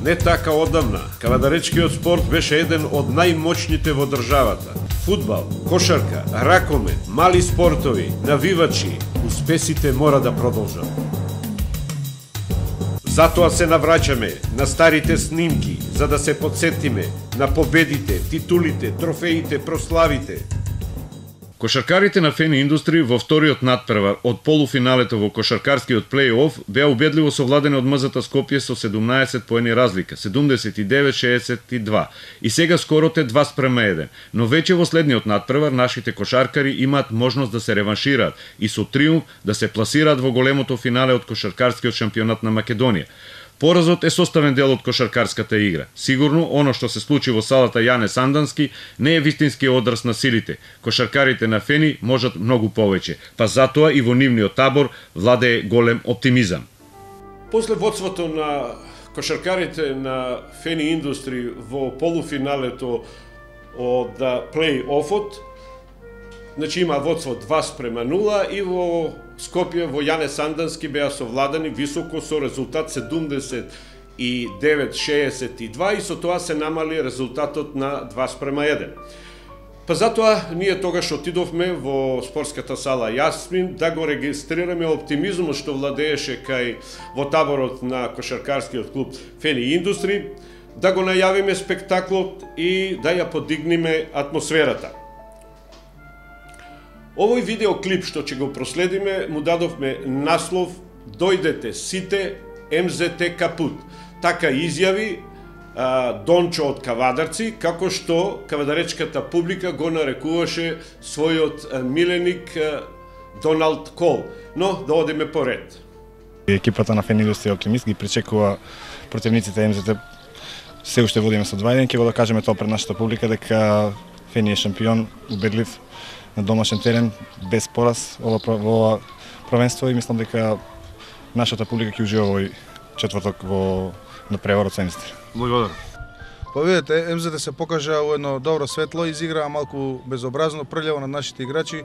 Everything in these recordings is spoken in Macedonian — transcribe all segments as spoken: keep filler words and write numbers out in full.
Не така одамна, кавадаречкиот спорт беше еден од најмоćните во државата. Фудбал, кошарка, ракомет, мали спортови, навивачи, успесите мора да продолжат. Затоа се навраќаме на старите снимки, за да се подсетиме на победите, титулите, трофеите, прославите. Кошаркарите на Фени Индустри во вториот надпревар од полуфиналето во кошаркарскиот плей-оф беа убедливо совладени од МЗТ Скопје со седумнаесет поени разлика, седумдесет и девет шеесет и два. И сега скорот е два спрема еден. Но веќе во следниот надпревар нашите кошаркари имаат можност да се реваншираат и со триумф да се пласираат во големото финале од кошаркарскиот шампионат на Македонија. Поразот е составен дел од кошаркарската игра. Сигурно, оно што се случи во салата Јане Сандански не е вистински одраз на силите. Кошаркарите на Фени можат многу повеќе, па затоа и во нивниот табор владее голем оптимизам. После водството на кошаркарите на Фени Индустри во полуфиналето од плей-офот, значи има водство два спрема нула и во Скопје во Јане Сандански беа совладани високо со резултат седумдесет и девет шеесет и два и со тоа се намали резултатот на два спрема еден. Па затоа ние тогаш отидовме во спортската сала Јасмин да го регистрираме оптимизмот што владееше кај во таборот на кошаркарскиот клуб Фени Индустри, да го најавиме спектаклот и да ја подигнеме атмосферата. Овој видеоклип што ќе го проследиме му дадовме наслов "Дојдете сите МЗТ Капут". Така изјави а, Дончо од Кавадарци, како што кавадаречката публика го нарекуваше својот а, миленик а, Доналд Кол. Но да одиме поред. Екипата на Фени Индустри оптимист ги причекува противниците МЗТ. Се уште водиме со два еден, ќе го докажеме тоа пред нашата публика дека Фени е шампион, убедлив на домашен терен, без пораз ова, ова првенство и мислам дека нашата публика ќе ужива овој четврток во надпреварот со МЗТ. Благодарам. Па видите, МЗТ се покажа во едно добро светло, изиграа малку безобразно, прљаво над нашите играчи.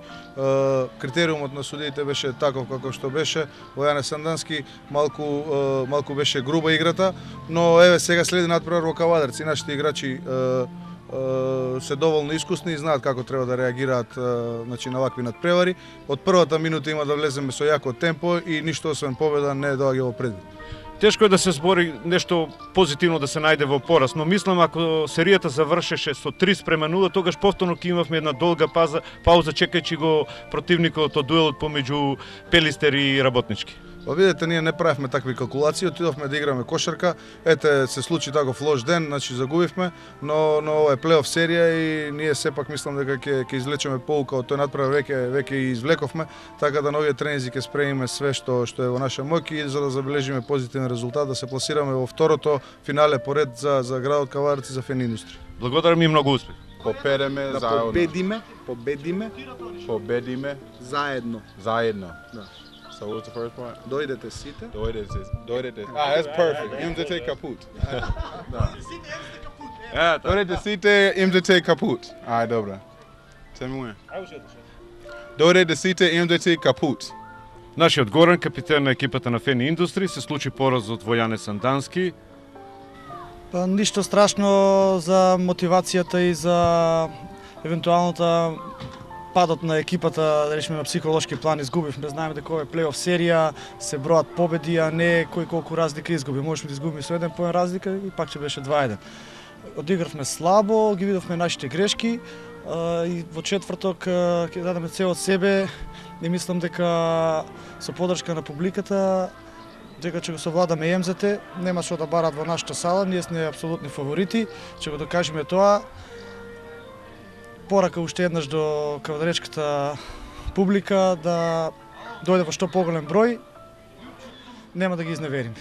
Критериумот на судиите беше таков како што беше. Во Јане Сандански малку малку беше груба играта, но еве сега следи надпревар во Кавадарци. Нашите играчи се доволно искусни и знаат како треба да реагираат значи, на вакви надпревари. Од првата минута има да влеземе со јако темпо и ништо освен победа не доаѓа во предвид. Тешко е да се збори нешто позитивно да се најде во пораз, но мислам ако серијата завршеше со три спрема нула, тогаш повторно ќе имавме една долга пауза, пауза чекајќи го противникот од дуелот помеѓу Пелистер и Работнички. Па видите, ние не правевме такви калкулации, отидовме да играме кошарка. Ете, се случи таков лош ден, значи загубивме, но но ова е плей-оф серија и ние сепак мислам дека ќе ќе извлечеме поука од тој надпревар, веќе веќе и извлековме, така да на овие тренинзи ќе спремиме све што што е во наша моќ и за да забележиме позитивен резултат, да се пласираме во второто финале поред за за градот Кавадарци за Фени Индустри. Благодарам и многу успех. Победиме да заедно. победиме, победиме, Победиме заедно. заедно. Да. So what's the first part? Дојдете сите. Dojdete. Dojdete. Ah, that's perfect. МЗТ Kaput. Е, Dojdete сите МЗТ Kaput. Ah, добра. Tell me when. Dojdete сите МЗТ Kaput. Нашиот Горан, капитен на екипата на Фени Индустри, се случи поразот во Јане Сандански. Па ништо страшно за мотивацијата и за евентуалната падот на екипата, да речеме на психолошки план изгубивме. Знаеме дека ова е плей-оф серија, се броат победи, а не кој колку разлика изгуби. Можеме да изгубиме со еден поен разлика и пак ќе беше два еден. Одигравме слабо, ги видовме нашите грешки и во четврток ќе дадеме цел од себе и мислам дека со поддршка на публиката дека ќе го совладаме МЗТ, нема што да барат во нашата сала, ние сме апсолутни фаворити, ќе го докажеме тоа. Порака уште еднаш до кавадаречката публика да дојде во што поголем број, нема да ги изневериме.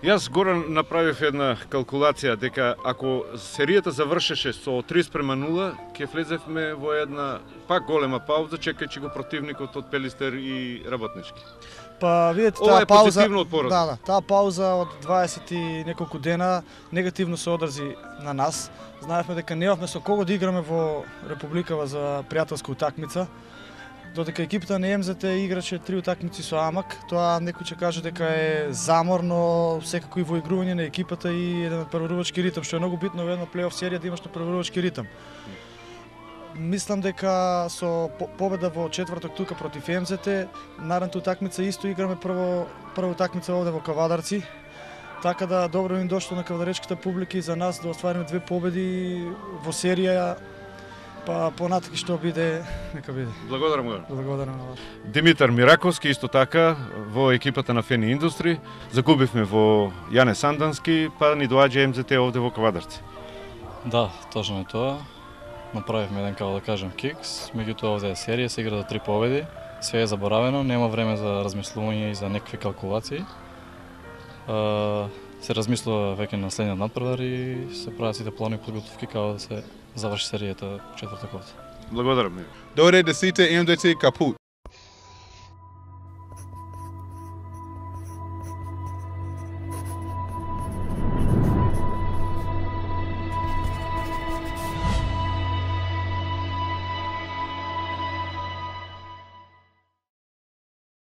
Јас Горан направив една калкулација дека ако серијата завршеше со три спрема нула, ќе влезевме во една пак голема пауза чекајќи го противникот од Пелистер и Работнички. Па видете, Ова таа е пауза, позитивно од поразот. да, да, таа пауза од дваесет и неколку дена негативно се одрзи на нас. Знаевме дека немавме со кого да играме во Републикава за пријателска утакмица. Додека екипата на МЗТ играше три утакмици со Амак, тоа некој ќе каже дека е замор, но секако и во игрување на екипата и еден преварувачки ритм, што е многу битно во една плей-оф серија да имаш на преварувачки ритм. Мислам дека со победа во четврток тука против МЗТ, наредната утакмица исто играме прво прва утакмица овде во Кавадарци. Така да добро им дошло на кавадаречката публика и за нас да оствариме две победи во серија, па понатаки што биде, нека биде. Благодарам го. Благодарам на вас. Димитар Мираковски исто така во екипата на Фени Индустри. Загубивме во Јане Сандански, па ни доаѓа МЗТ овде во Кавадарци. Да, точно е тоа. Направивме еден, како да кажем, кикс, меѓутоа овде е серија, се игра за три победи. Све е заборавено, нема време за размислување и за некакви калкулации. Uh, се размислува веќе на следниот надпревар и се прават сите плани и подготовки како да се заврши серијата четвртакот. Благодарам. Dore de Cite M D T kaput.